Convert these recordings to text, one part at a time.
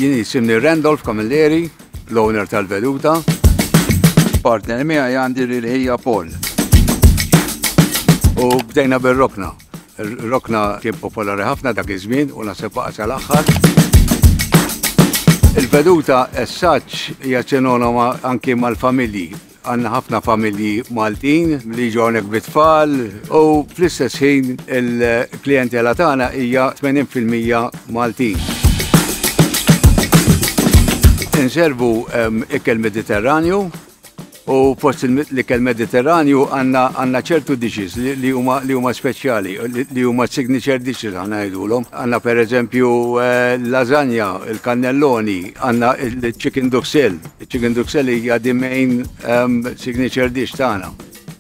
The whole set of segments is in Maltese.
Jien jisimni Randolph Camilleri, l-owner tal-Veduta. Partner miegħi għandi lil ħija Paul. U bdejna bir-rokna. Ir-rokna kien popolari ħafna dak iż-żmien u naħseb baqa' sal-aħħar. Il-Veduta as such hija sinonima anki mal-familji. Għandna ħafna familji Maltin li jiġu hawnhekk bit-tfal u fl-istess ħin il-klijentela tagħna hija 80% Maltin. Inservu ehm, ikel Mediterranju u fost l-ikel Mediterranju għandna ċertu dishes li huma li huma speċjali, li huma signature dishes aħna ngħidulhom. Għandna pereżempju eh, lasagna, il-kannelloni, għandna il-chicken duxelles. Chicken duxelles hija the main um, signature dish tagħna.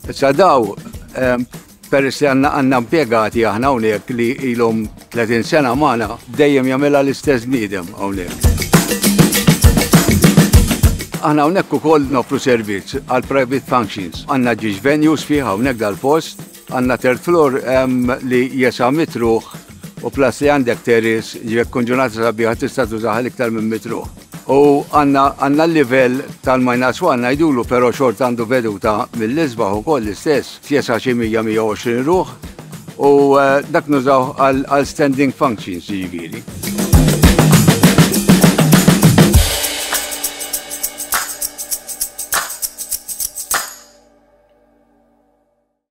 Issa daw um, peress li għandna għandna impjegati aħna hawnhekk li ilhom 30 sena magħna dejjem jagħmilha l-istess bniedem hawnhekk. Aħna hawnhekk ukoll nofru servizz għal private functions. Għandna ġiex venues fih hawnhekk dal-post. Għandna third floor li jesa' mitruħ u plus li għandek terrace jekk tkun ġurnata sabiħa tista' tużaha l-iktar minn mitruħ. U għandna għandna l-livell tal-minus one ngħidulu però xorta għandu veduta mill-isbaħ ukoll l-istess, jesa' xi 100-120 ruħ u dak nużawh għal standing functions jiġifieri.